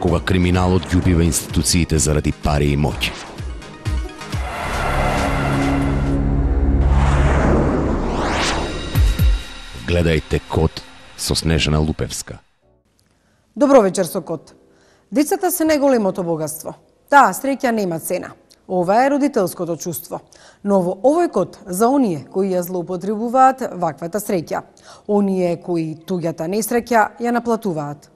кога криминалот ги убива институциите заради пари и моќ. Гледајте Код со Снежана Лупевска. Добро вечер со Код. Децата се најголемото богатство. Таа среќа нема цена. Ова е родителското чувство. Но во овој Код за оние кои ја злоупотребуваат ваквата среќа. Оние кои туѓата несреќа ја наплатуваат.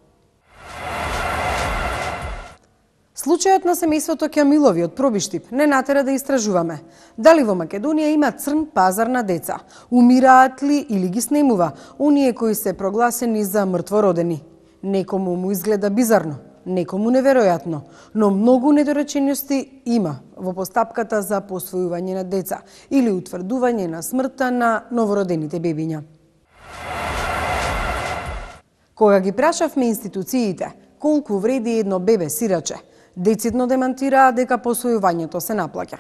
Случајот на семејството Ќамилови од Пробиштип не натера да истражуваме. Дали во Македонија има црн пазар на деца? Умираат ли или ги снемува оние кои се прогласени за мртвородени? Некому му изгледа бизарно, некому неверојатно, но многу недоречености има во постапката за посвојување на деца или утврдување на смртта на новородените бебиња. Кога ги прашавме институциите колку вреди едно бебе сираче, децидно демантираа дека посвојувањето се наплаќа.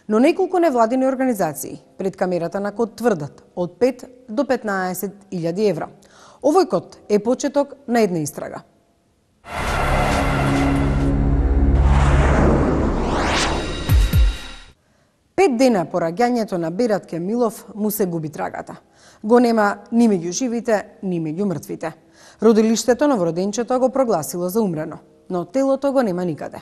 Но неколку невладини организации пред камерата на Код тврдат од 5 до 15.000 евра. Овој Код е почеток на една истрага. Пет дена по раѓањето на Берат Ќамилов му се губи трагата. Го нема ни меѓу живите, ни меѓу мртвите. Родилиштето новороденчето го прогласило за умрено, но телото го нема никаде.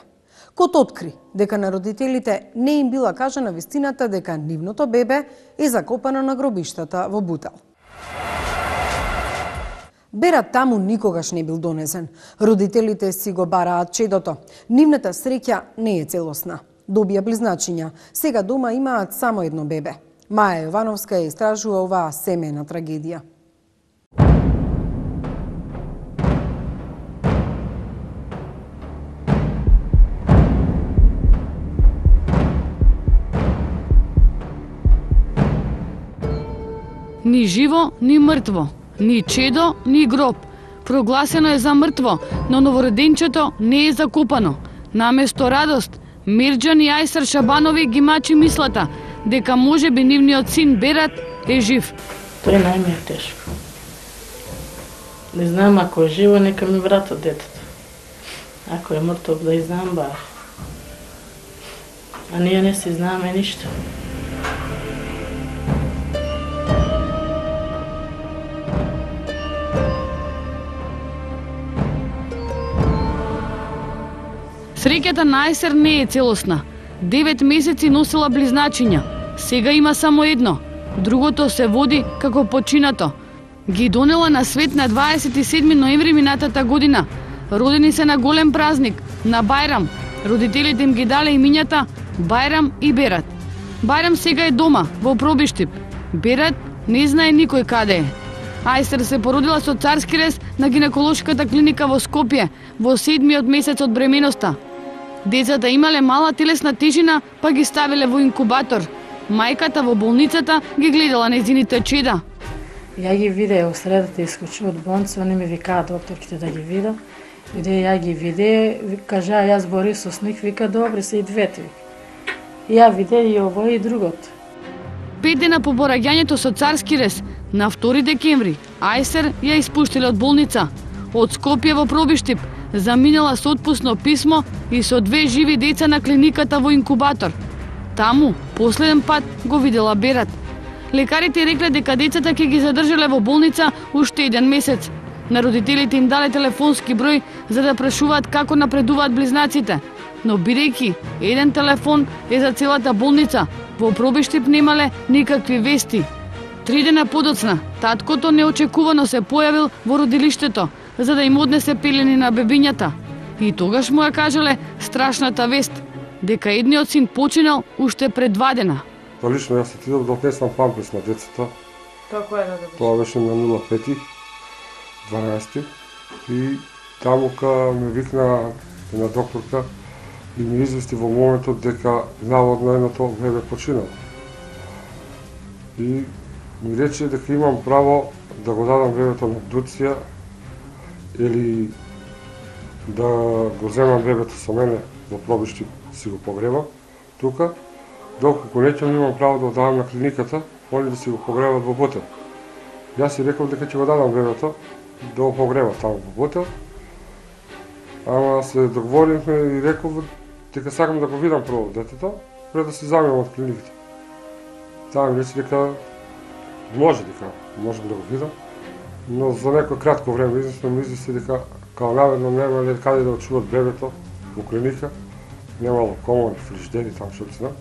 Код откри дека на родителите не им била кажана вистината дека нивното бебе е закопано на гробиштата во Бутел. Берат таму никогаш не бил донесен. Родителите си го бараат чедото. Нивната среќа не е целосна. Добија близначиња. Сега дома имаат само едно бебе. Маја Јовановска ја истражува оваа семејна трагедија. Ни живо, ни мртво, ни чедо, ни гроб. Прогласено е за мртво, но новороденчето не е закопано. Наместо радост, Мирџан и Ајсар Шабанови ги мачи мислата дека можеби нивниот син Берат е жив. Тој најме е тешко. Не знам, ако е живо, нека ми вратат детето. Ако е мртов, да и знам бар. А ние не си знаме ништо. Среќата на Ајсар не е целосна. 9 месеци носила близначиња. Сега има само едно. Другото се води како починато. Ги донела на свет на 27 ноември минатата година. Родени се на голем празник, на Бајрам. Родителите им ги дале имињата Бајрам и Берат. Бајрам сега е дома, во Пробиштип. Берат не знае никој каде е. Ајсар се породила со царски рез на гинеколошката клиника во Скопје во 7-миот месец од бременоста. Децата имале мала телесна тежина, па ги ставиле во инкубатор. Мајката во болницата ги гледала нејзините чеда. Ја ги виде во средата, искочи од болница, они ми викаа докторките да ги видам. Иде ја ги виде, кажа јас Борисов сник, вика добри се и двете. Ја виде и ово и другото. 5 дена по пораѓањето со царски рез, на 2 декември, Ајсар ја испуштиле од болница. Од Скопје во Пробиштип, заминала со отпусно писмо и со 2 живи деца на клиниката во инкубатор. Таму, последен пат, го видела Берат. Лекарите рекле дека децата ќе ги задржале во болница уште 1 месец. На родителите им дале телефонски број за да прашуваат како напредуваат близнаците. Но бидејќи еден телефон е за целата болница, во Пробиштип немале никакви вести. 3 дена подоцна, таткото неочекувано се појавил во родилиштето, за да им однесе пелени на бебињата. И тогаш му ја кажале страшната вест, дека едниот син починал уште пред 2 дена. Лично јас отидов да отнесам памперс на децата. Како е да добиш? Тоа беше на 05.12. И таму ка ме викна една докторка и ми извести во моментот дека наводно едното бебе починало. И ми рече дека имам право да го дадам бебето на абдукција или да го земам бебето со мене во Пробиштип, си го погребам тука, доколку не ќе имам право да го дадам на клиниката, они да си го погребат во Бутел. Јас си реков дека ќе го дадам бебето да го погреба таму во Бутел Ама се договоривме и реков дека сакам да го видам прво детето, пред да се заминам од клиниката. Таа ми рече дека можем да го видам, но за некој кратко време измисли дека као наверно немале каде да очуват бебето во клиника, немало комори, фриждери, там што се знам.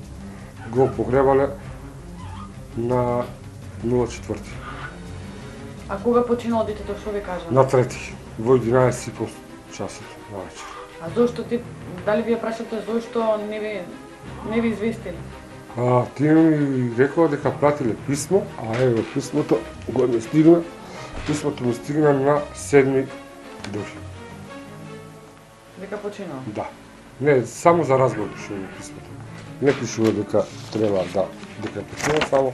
Го погребале на 04. А кога починало детето, што ви кажа? На 3, во 11:30 часот на вечер. А зошто ти, дали ви ја прашате зошто не ви известили? Тие ми рекоа дека пратиле писмо, а еве писмото го ми стигна. Писмото ми стигна на 7 дури. Дека починал? Да. Не, само за разговор пишува писмото. Не пишува дека треба дека починал, само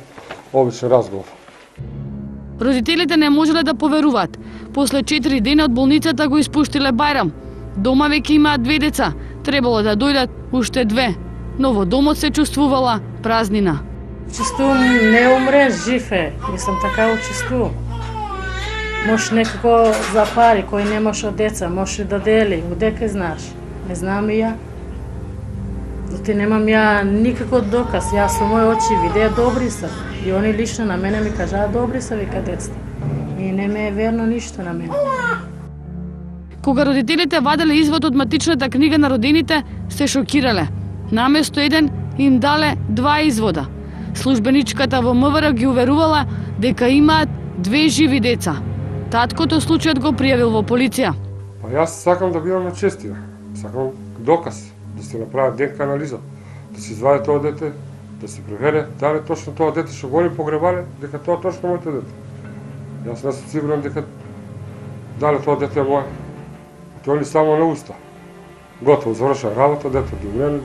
обичен разговор. Родителите не можеле да поверуваат. После 4 дена од болницата го испуштиле Бајрам. Дома веќе имаат 2 деца. Требало да дојдат уште 2. Но во домот се чувствувала празнина. Чувствувам не умре, жив е. Мислам така учествувам. Може некако за пари кој немаше од деца, може да дели, одека знаеш. Не знам и ја. Зато немам ја никаков доказ. Јас со мои очи видеа добри се. И они лично на мене ми кажаа добри се, вика децата. И не ме е верно ништо на мене. Кога родителите ваделе извод од матичната книга на родените, се шокирале. Наместо еден им дале 2 извода. Службеничката во МВР ги уверувала дека имаат 2 живи деца. Таткото случајот го пријавил во полиција. Па јас сакам да бидам начестина. Сакам доказ, да се направи ДНК анализа, да се извади тоа дете, да се провере дали точно тоа дете што го погребале, дека тоа точно моето дете. Јас не сум сигурен дека дали тоа дете е мое. Тоа ли само на уста. Готово, завршува работа, дете до мене,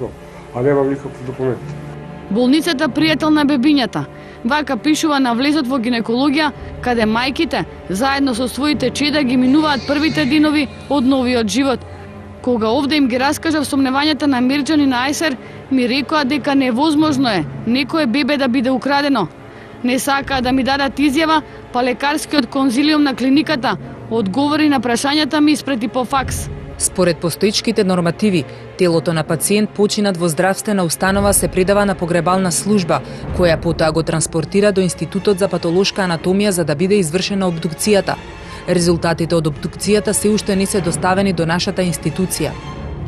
а немам никакви документи. Болницата пријател на бебињата. Вака пишува на влезот во гинекологија, каде мајките заедно со своите чеда ги минуваат првите денови од новиот живот. Кога овде им ги раскажав сомневањата на Мирџан и на Ајсер, ми рекоа дека невозможно е некое бебе да биде украдено. Не сакаа да ми дадат изјава, па лекарскиот конзилиум на клиниката одговори на прашањата ми испрети по факс. Според постоечките нормативи, телото на пациент починат во здравствена установа се предава на погребална служба, која потоа го транспортира до Институтот за патолошка анатомија за да биде извршена обдукцијата. Резултатите од обдукцијата се уште не се доставени до нашата институција.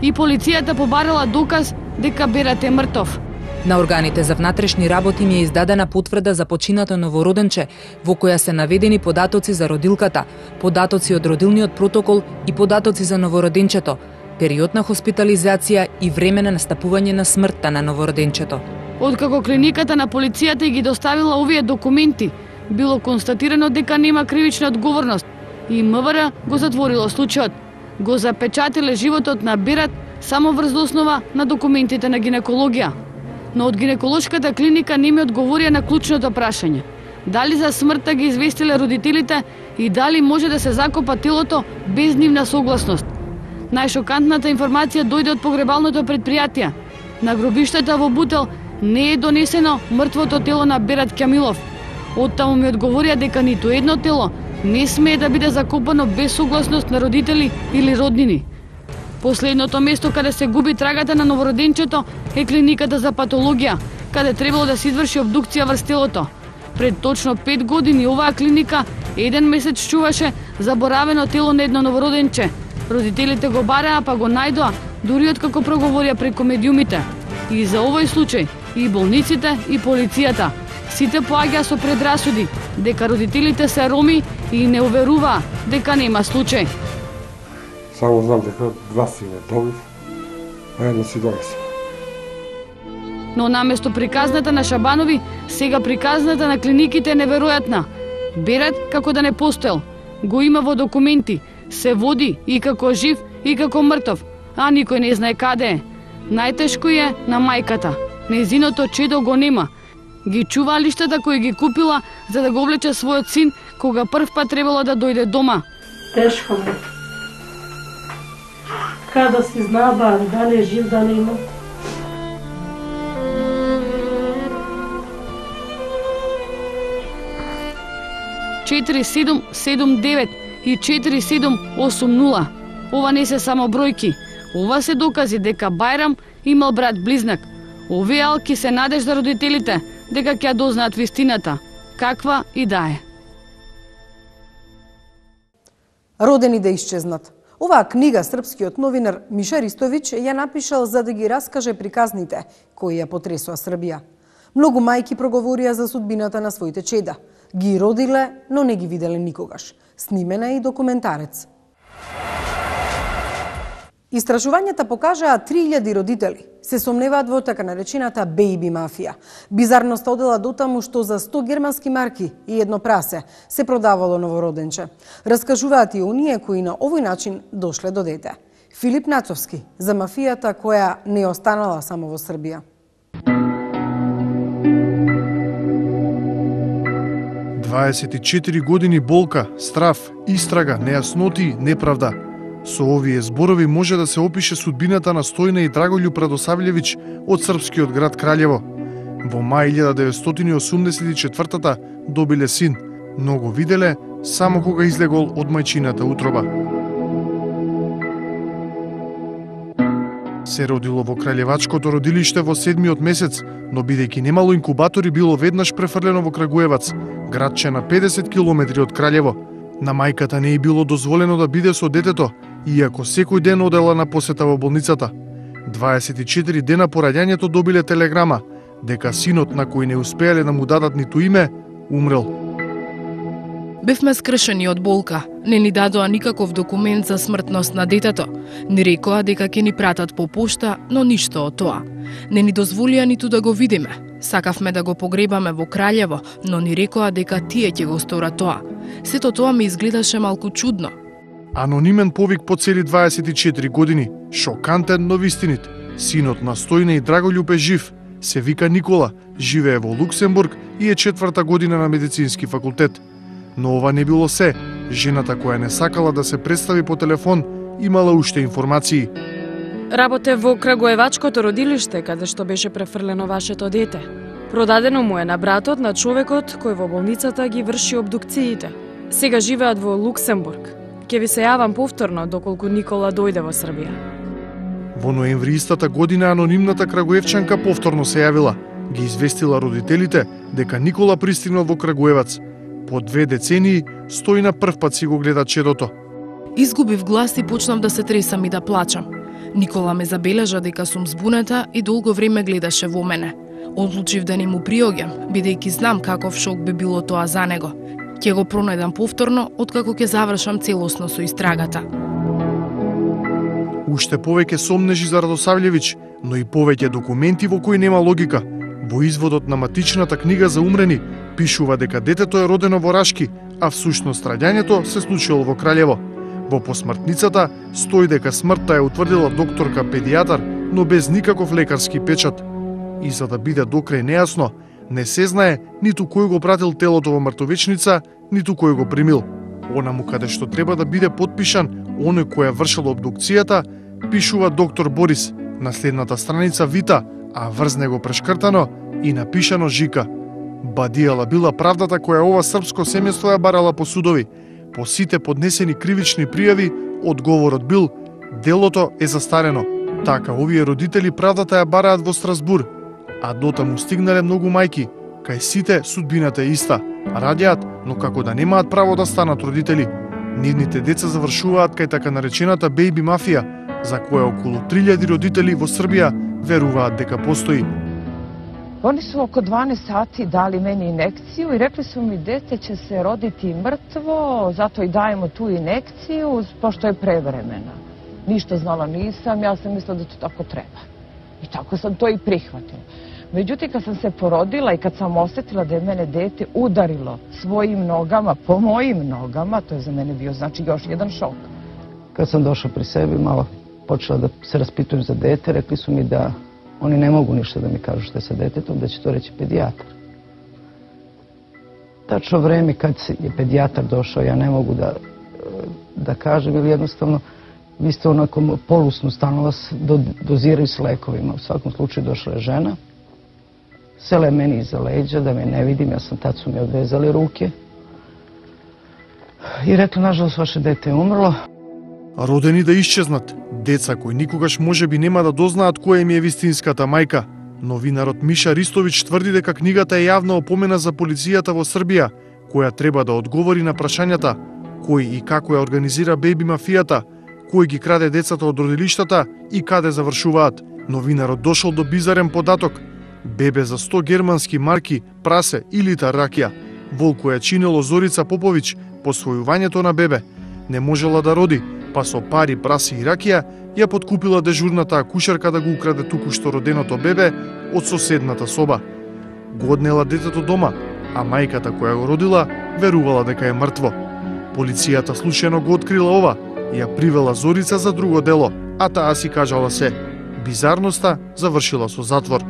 И полицијата побарала доказ дека Берат е мртов. На органите за внатрешни работи ми е издадена потврда за починато новороденче, во која се наведени податоци за родилката, податоци од родилниот протокол и податоци за новороденчето, период на хоспитализација и време на настапување на смртта на новороденчето. Откако клиниката на полицијата ги доставила овие документи, било констатирано дека нема кривична одговорност и МВР го затворило случајот. Го запечатиле животот на Берат само врз основа на документите на гинекологија. Но од гинеколошката клиника не ми одговорија на клучното прашање. Дали за смртта ги известиле родителите и дали може да се закопа телото без нивна согласност. Најшокантната информација дојде од погребалното предпријатие. На гробиштата во Бутел не е донесено мртвото тело на Берат Кјамилов. Оттаму ми одговорија дека ниту едно тело не смее да биде закопано без согласност на родители или роднини. Последното место каде се губи трагата на новороденчето е клиниката за патологија, каде требало да се изврши обдукција врз телото. Пред точно 5 години оваа клиника еден месец чуваше заборавено тело на едно новороденче. Родителите го бареа, па го најдоа, дури откако проговорија преку медиумите. И за овој случај и болниците и полицијата сите поаѓа со предрасуди дека родителите се роми и не уверуваа дека нема случај. Само знам дека 2 сина добив, а едно си донесе. Но наместо приказната на Шабанови, сега приказната на клиниките е неверојатна. Берат како да не постоел. Го има во документи, се води и како жив и како мртов, а никој не знае каде е. Најтешко е на мајката. Незиното чедо го нема. Ги чува лиштата кои ги купила за да го влече својот син кога прв пат требало да дојде дома. Тешко му. Када си знава дали е жив, дали има. (4779) и 4780. Ова не се само бројки. Ова се докази дека Бајрам имал брат-близнак. Овие алки се надеж за родителите дека ќе дознаат вистината, каква и да е. Родени да исчезнат. Оваа книга српскиот новинар Миша Ристовиќ ја напишал за да ги раскаже приказните кои ја потресоа Србија. Многу мајки проговорија за судбината на своите чеда. Ги родиле, но не ги виделе никогаш. Снимена е и документарец. Истражувањата покажаа 3000 родители се сомневаат во така наречената бејби мафија. Бизарноста одела дотаму што за 100 германски марки и едно прасе се продавало новороденче. Раскажуваат и оние кои на овој начин дошле до дете. Филип Нацовски за мафијата која не останала само во Србија. ...24 години болка, страф, истрага, нејасноти, неправда. Со овие зборови може да се опише судбината на Стојна и Драголјуб Радосављевиќ од српскиот град Краљево. Во мај 1984 добиле син, но го виделе само кога излегол од мајчината утроба. Се родило во Краљевачкото родилиште во 7-миот месец, но бидејќи немало инкубатори било веднаш префрлено во Крагуевац, градче на 50 километри од Краљево. На мајката не е било дозволено да биде со детето, иако секој ден одела на посета во болницата. 24 дена по раѓањето добиле телеграма дека синот на кој не успеале да му дадат ниту име, умрел. Бевме скршени од болка. Не ни дадоа никаков документ за смртност на детето. Ни рекоа дека ќе ни пратат по пошта, но ништо од тоа. Не ни дозволија ниту да го видиме. Сакавме да го погребаме во Краљево, но ни рекоа дека тие ќе го сторат тоа. Сето тоа ми изгледаше малку чудно. Анонимен повик по цели 24 години. Шокантен, но вистинит. Синот на Стојна и Драголјуб е жив. Се вика Никола, живее во Луксембург и е 4-та година на медицински факултет. Но ова не било се. Жената која не сакала да се представи по телефон, имала уште информации. Работе во Крагуевачкото родилиште, каде што беше префрлено вашето дете. Продадено му е на братот на човекот кој во болницата ги врши обдукциите. Сега живеат во Луксембург. Ке ви се јавам повторно доколку Никола дојде во Србија. Во ноември истата година анонимната крагуевчанка повторно се јавила. Ги известила родителите дека Никола пристигнал во Крагуевац. По 2 децении Стојна првпат си го гледа чедото. Изгубив глас и почнав да се тресам и да плачам. Никола ме забележа дека сум збуната и долго време гледаше во мене. Одлучив да не му приоѓам, бидејќи знам каков шок би било тоа за него. Ќе го пронајдам повторно, откако ќе завршам целосно со истрагата. Уште повеќе сомнежи за Радосављевиќ, но и повеќе документи во кои нема логика. Во изводот на матичната книга за умрени пишува дека детето е родено во Рашки, а всушност раѓањето се случило во Краљево. Во посмртницата стои дека смртта е утврдила докторка педијатар, но без никаков лекарски печат. И за да биде докрај нејасно, не се знае ниту кој го пратил телото во мртовечница, ниту кој го примил. Онаму каде што треба да биде потпишан оној кој ја вршил обдукцијата, пишува доктор Борис. На следната страница вита, а врз него прешкртано и напишано жика. Бадијала била правдата која ова српско семејство ја барала по судови. По сите поднесени кривични пријави, одговорот бил делото е застарено. Така овие родители правдата ја бараат во Страсбур, а дотаму стигнале многу мајки. Кај сите судбината е иста. Раѓаат, но како да немаат право да станат родители. Нивните деца завршуваат кај така наречената бејби мафија, за која околу 3000 родители во Србија веруваат дека постои. Oni su oko 12 sati dali meni inekciju i rekli su mi dete će se roditi mrtvo, zato i dajemo tu inekciju, pošto je prevremena. Ništa znala nisam, ja sam mislila da to tako treba. I tako sam to i prihvatila. Međutim, kad sam se porodila i kad sam osjetila da je mene dete udarilo svojim nogama, po mojim nogama, to je za mene bio znači još jedan šok. Kad sam došla pri sebi, malo počela da se raspitujem za dete, rekli su mi da oni ne mogu ništa da mi kažu što je sa detetom, da će to reći pedijatar. Tačno vreme kad je pedijatar došao, ja ne mogu da kažem, ili jednostavno vi ste onako polusnu, stalno vas doziraju s lekovima. U svakom slučaju došla je žena, sela je meni iza leđa, da me ne vidim, tad su mi odvezali ruke i rekla, nažalost, vaše dete je umrlo. Родени да исчезнат, деца кои никогаш можеби нема да дознаат која им е вистинската мајка. Новинарот Миша Ристовиќ тврди дека книгата е јавна опомена за полицијата во Србија, која треба да одговори на прашањата кој и како ја организира беби мафијата, кој ги краде децата од родилиштата и каде завршуваат. Новинарот дошол до бизарен податок: бебе за 100 германски марки, прасе и литар ракија. Волку ја чинело Зорица Поповиќ посвојувањето на бебе. Не можела да роди, па со пари, праси и ракија ја подкупила дежурната акушерка да го украде туку-што роденото бебе од соседната соба. Го однела детето дома, а мајката која го родила верувала дека е мртво. Полицијата случајно го открила ова и ја привела Зорица за друго дело, а таа си кажала се. Бизарноста завршила со затвор.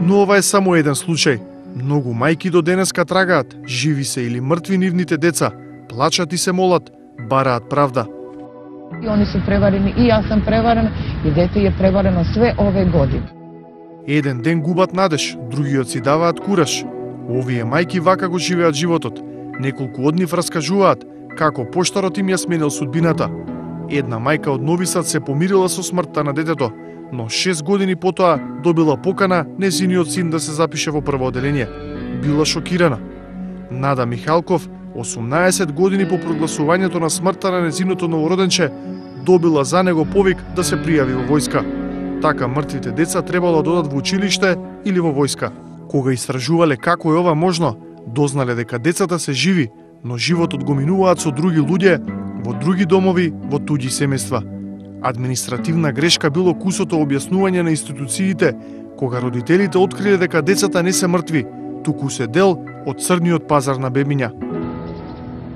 Но ова е само еден случај. Многу мајки до денеска трагаат, живи се или мртви нивните деца, плачат и се молат, бараат правда. И они се преварени, и јас сам преварена, и дете е преварено све ове години. Еден ден губат надеж, другиот си даваат кураж. Овие мајки вака го живеат животот. Неколку од нив раскажуваат како поштарот им ја сменил судбината. Една мајка од Нови Сад се помирила со смртта на детето, но 6 години потоа добила покана нејзиниот син да се запише во прво оделение. Била шокирана. Нада Михалков, 18 години по прогласувањето на смртта на нејзиното новороденче, добила за него повик да се пријави во војска. Така мртвите деца требало да одат во училиште или во војска. Кога истражувале како е ова можно, дознале дека децата се живи, но животот го минуваат со други луѓе, во други домови, во туѓи семејства. Административна грешка било кусото објаснување на институциите, кога родителите откриле дека децата не се мртви, туку се дел од црниот пазар на бебиња.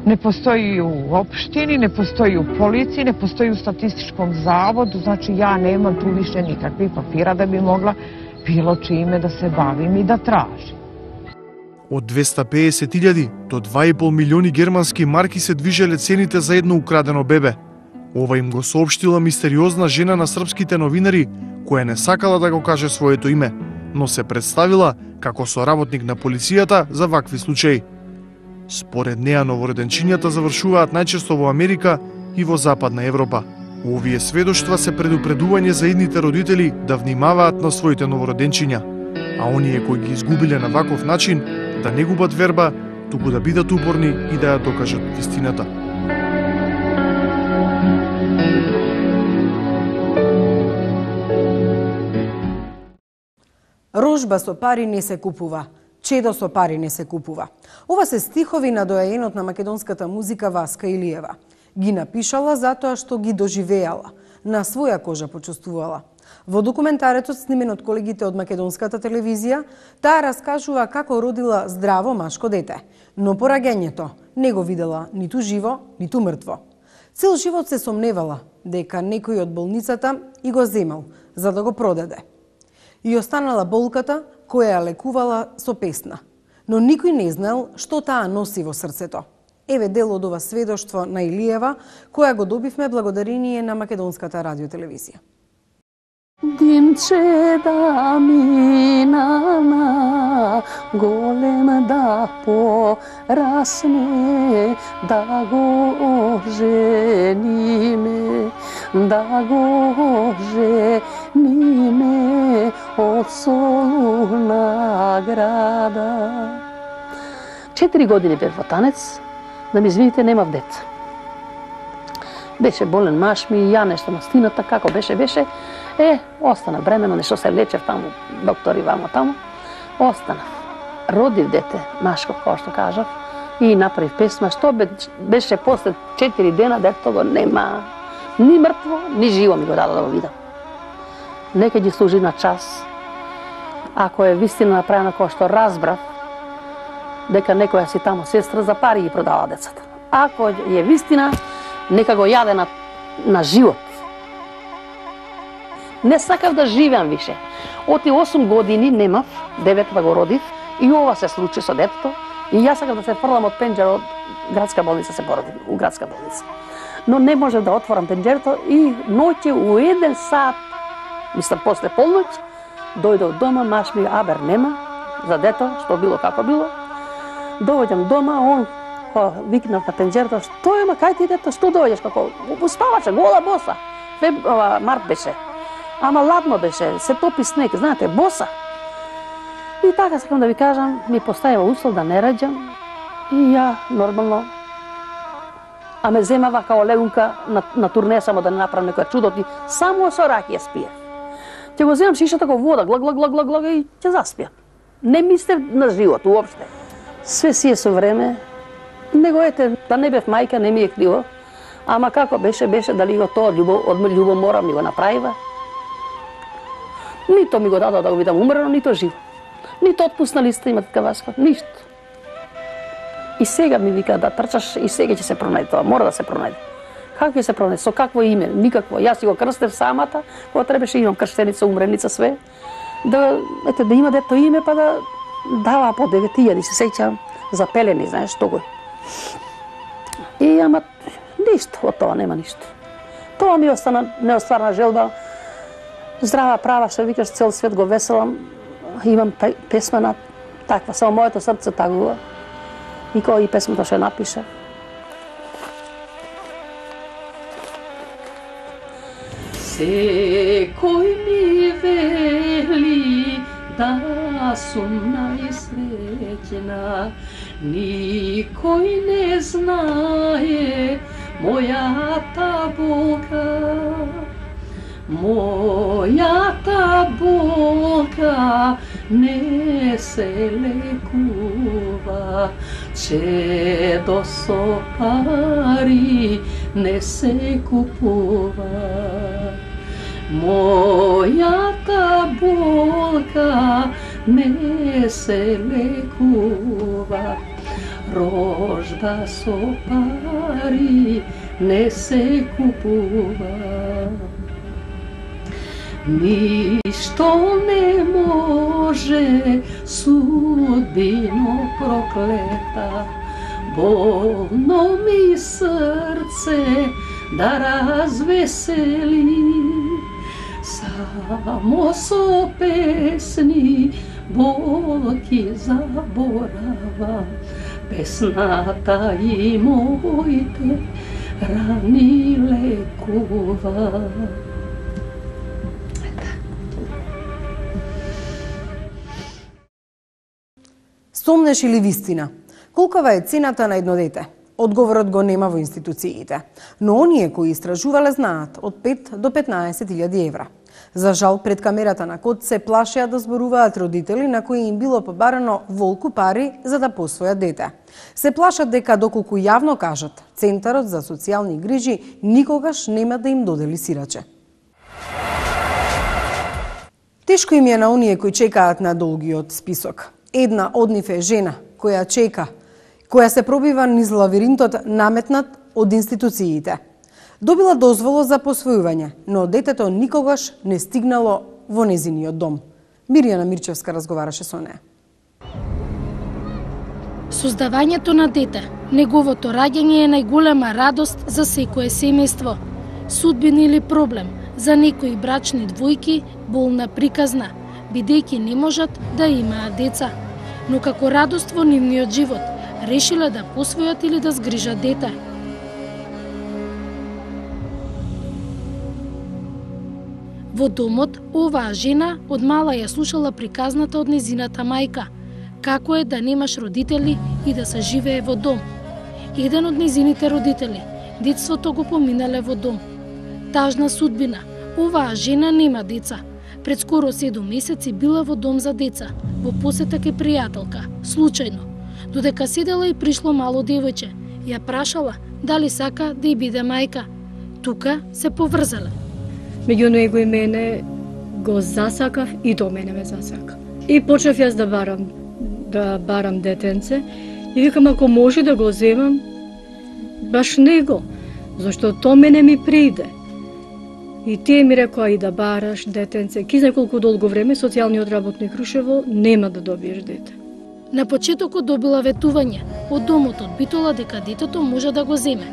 Не постои у општини, не постои у полицији, не постои у статистичком заводу, значи ја немам ту више никакви папира да би могла било чиме да се бавим и да тражим. Од 250.000 до 2,5 милиони германски марки се движеле цените за едно украдено бебе. Ова им го соопштила мистериозна жена на српските новинари, која не сакала да го каже своето име, но се представила како соработник на полицијата за вакви случаи. Според неа новороденчињата завршуваат најчесто во Америка и во Западна Европа. Овие сведоштва се предупредување за идните родители да внимаваат на своите новороденчиња, а оние кои ги изгубиле на ваков начин да не губат верба, туку да бидат упорни и да ја докажат вистината. Рожба со пари не се купува. Чедо со пари не се купува. Ова се стихови на доаенот на македонската музика Васка Илиева. Ги напишала затоа што ги доживеала, на своја кожа почувствувала. Во документаретот снимен од колегите од македонската телевизија, таа раскажува како родила здраво машко дете, но по раѓањето не го видела ниту живо, ниту мртво. Цел живот се сомневала дека некој од болницата и го земал за да го продаде. И останала болката која ја лекувала со песна, но никој не знал што таа носи во срцето. Еве дел од ова сведоштво на Илиева, која го добивме благодарение на македонската радиотелевизија. Димче да мина на голем да порасне, да го жениме, да го жениме од солуна града. 4 години бев во танец, да ми извините, немав деца. Беше болен маж ми, ја нешто мастината, како беше. Остана бремено, нешто се лечев таму, доктори вамо таму. Останав. Родив дете, машко, како што кажав, и направив песма, што беше после 4 дена, детето го нема. Ни мртво, ни живо ми го дадо да го видам. Нека ги служи на час. Ако е вистина направена како што разбрав, дека некоја си таму сестра за пари ги продава децата. Ако е вистина, нека го јаде на живот. Не сакав да живеам више. Оти 8 години немав, 9 го родив, и ова се случи со детето, и јас сакав да се фрлам од пенџера од градска болница, се породив у градска болница. Но не може да отворам пенџерето и ноќе у 1 сат, мислам после полноќ, дојде од дома, маш ми абер нема за дето, што било како било. Доаѓам дома, он викнав на пенџерата, што ема, кај ти дето, што дојдеш, како, спаваше, гола боса. Март беше. Ама ладно беше, се топи снег, знаете, боса. И така, сакам да ви кажам, ми поставила услов да не раѓам и ја, нормално, а ме земава као легунка на турне само да не направам некоја чудоти, само со ракија спија. Ќе го земам шишата како вода, глаг и ќе заспија. Не мислев на живот уопште. Све си е со време, него ете, да не бев мајка, не ми е криво, ама како беше, дали го тоа од љубомора ми го направива. Нито ми го дадо да го видам умрено, нито живо. Нито отпусна листа има така Васко, ништо. И сега ми вика да трчаш и сега ќе се пронајде тоа, мора да се пронајде. Како ќе се пронајде? Со какво име? Никакво. Јас си го крстев самата, кога требаше имам крштеница, умреница, све. Да има дето име, па да дава по 9.000, се сеќавам, за пелени, знаеш, што го е. И ама ништо, од тоа нема ништо. Тоа ми остана неостварна желба. Здрава права, што викаш, цел свет го веселам. Имам песма таква, само моето срце тагува. И кој и песмата што напиша. Секој ми вели да сум најсреќна, никој не знае мојата болка. Мојата болка не се лекува, чедо со пари не се купува. Мојата болка не се лекува, рожба со пари не се купува. Ништо не може, судбино проклета, болно ми срце да развесели. Само со песни болки заборавам, песната и моите рани лекува. Сомнеш или вистина? Колкава е цената на едно дете? Одговорот го нема во институциите, но оние кои истражувале знаат од 5 до 15.000 евра. За жал, пред камерата на Код се плашеа да зборуваат родители на кои им било побарано волку пари за да посвојат дете. Се плашат дека доколку јавно кажат, Центарот за социјални грижи никогаш нема да им додели сираче. Тешко им е на оние кои чекаат на долгиот список. Една од нив е жена која чека, која се пробива низ лавиринтот наметнат од институциите. Добила дозвола за посвојување, но детето никогаш не стигнало во незиниот дом. Мирјана Мирчевска разговараше со неа. Создавањето на дете, неговото раѓање е најголема радост за секое семејство. Судбина или проблем за некои брачни двојки болна приказна, бидејќи не можат да имаат деца. Но како радост во нивниот живот, решиле да посвојат или да згрижат дете. Во домот, оваа жена од мала ја слушала приказната од незината мајка, како е да немаш родители и да се живее во дом. Еден од незините родители, детството го поминале во дом. Тажна судбина, оваа жена нема деца. Пред скоро 7 месеци била во дом за деца, во посета ке пријателка, случајно. Додека седела и пришло мало девојче, ја прашала дали сака да ја биде мајка. Тука се поврзале. Меѓу него и мене го засакав и до мене ме засака. И почнав јас да барам детенце и викам ако може да го земам баш него, зашто то мене ми приде. И тие ми рекоа и да бараш детенце. Ки знае колку долго време социјалниот работник Крушево нема да добиеш дете. На почетокот добила ветување од домот од Битола дека детето може да го земе,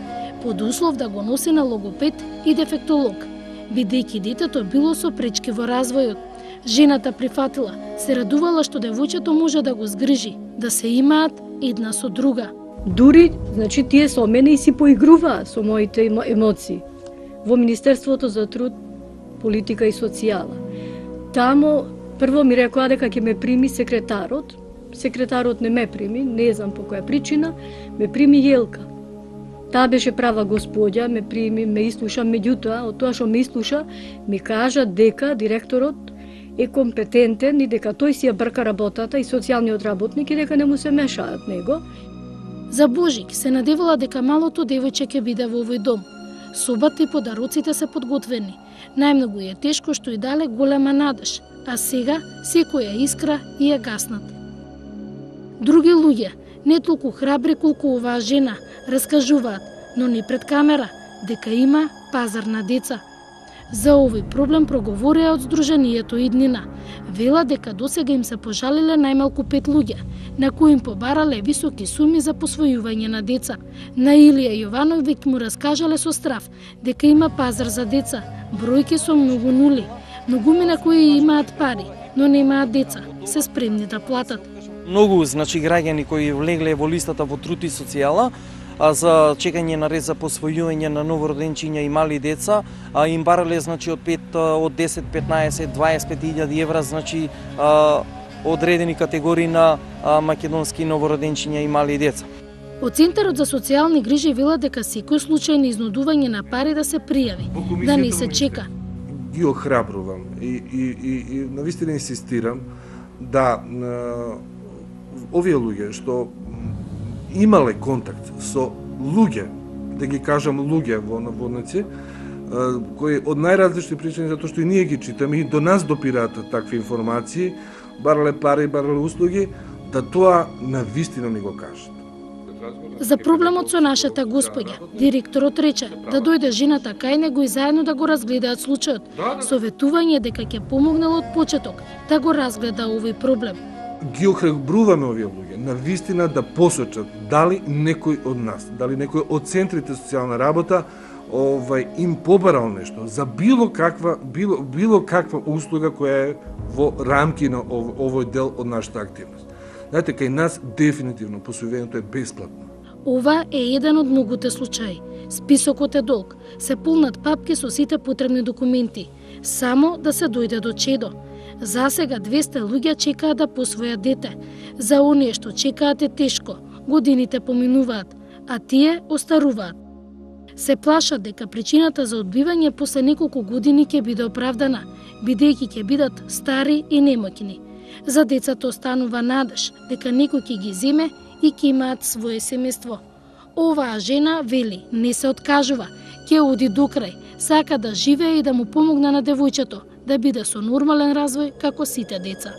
под услов да го носи на логопед и дефектолог, бидејќи детето било со пречки во развојот. Жената прифатила, се радувала што девојчето може да го згрижи, да се имаат една со друга. Дури, значи, тие со мене и си поигруваа со моите емоции во Министерството за труд, политика и социјала. Тамо прво ми рекоа дека ќе ме прими секретарот. Секретарот не ме прими, не знам по која причина, ме прими Јелка. Таа беше права господја, ме прими, ме ислуша, меѓутоа, од тоа што ме ислуша, ми кажа дека директорот е компетентен и дека тој си ја брка работата и социјалниот работник и дека не му се мешаат него. За Божик се надевала дека малото девојче ќе биде во овој дом. Собата и подароците се подготвени. Најмногу е тешко што и дале голема надеж, а сега секоја искра и е гаснат. Други луѓе, не толку храбри колку оваа жена, раскажуваат, но не пред камера, дека има пазар на деца. За овој проблем проговорија од Сдруженијето Иднина. Вела дека досега им се пожалиле најмалку 5 луѓе, на кои им побарале високи суми за посвојување на деца. На Илија Јовановиќ му раскажале со страв дека има пазар за деца, бројки со многу нули. Многумина кои имаат пари, но немаат деца, се спремни да платат. Многу, значи, граѓани кои влегле во листата во труд и социјала, за чекање на ред за посвојување на новороденчиња и мали деца, им барале, значи, од 10, 15, 25.000 евра, значи, одредени категории на македонски новороденчиња и мали деца. Од Центарот за социјални грижи вела дека секој случај на изнудување на пари да се пријави, да не се чека. Ги охрабрувам и навистина инсистирам да овие луѓе што имале контакт со луѓе, да ги кажам луѓе во наводници, кои од најразлични причини, затоа што и ние ги читаме и до нас допираат такви информации, барале пари, барале услуги, да тоа навистина ми го кажат. За проблемот со нашата господја, директорот рече да дојде жената кај него и заедно да го разгледаат случајот. Советување дека ќе помогнал од почеток да го разгледа овој проблем. Ги охрабруваме овие луѓе, навистина да посочат дали некој од нас, дали некој од центрите социјална работа им побарал нешто за било каква услуга која е во рамки на овој дел од нашата активност. Знаете, кај нас дефинитивно посвојувањето е бесплатно. Ова е еден од многуте случаи. Списокот е долг. Се полнат папки со сите потребни документи. Само да се дојде до чедо. За сега 200 луѓе чекаат да посвојат дете. За оние што чекаат е тешко. Годините поминуваат, а тие остаруваат. Се плашат дека причината за одбивање после неколку години ќе биде оправдана, бидејќи ќе бидат стари и немоќни. За децата останува надеж дека некој ќе ги земе и ќе имаат свое семејство. Оваа жена вели, не се откажува, ќе оди до крај, сака да живее и да му помогне на девојчето, да биде со нормален развој како сите деца.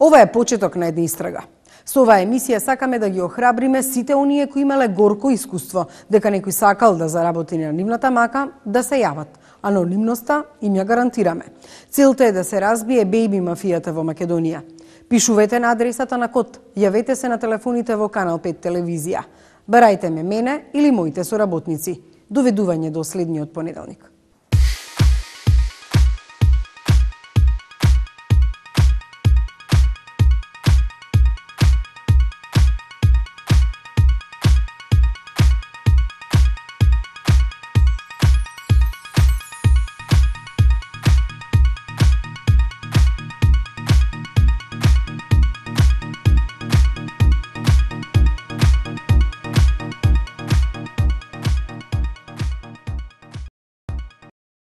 Ова е почеток на една истрага. Со оваа емисија сакаме да ги охрабриме сите оние кои имале горко искуство, дека некој сакал да заработи на нивната мака, да се јават. Анонимноста им ја гарантираме. Целта е да се разбие бејби мафијата во Македонија. Пишувате на адресата на код, јавете се на телефоните во Канал 5 телевизија. Барајте ме мене или моите соработници. Доведување до следниот понеделник.